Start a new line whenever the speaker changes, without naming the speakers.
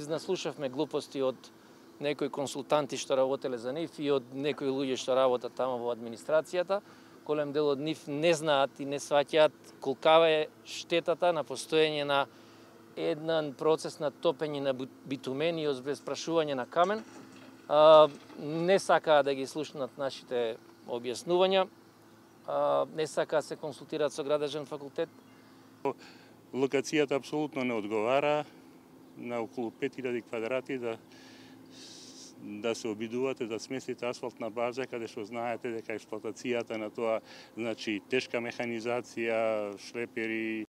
си наслушавме глупости од некои консултанти што работеле за нив и од некои луѓе што работат таму во администрацијата. Голем дел од нив не знаат и не сваќаат колкава е штетата на постоење на еден процес на топење на битумен и обезпрашување на камен. Не сакаат да ги слушнат нашите објаснувања, не сакаат се консултираат со градежен факултет.
Локацијата апсолутно не одговара на околу 5000 квадрати да се обидувате да сместите асфалтна база каде што знаете дека експлоатацијата на тоа, значи тешка механизација, шлепери,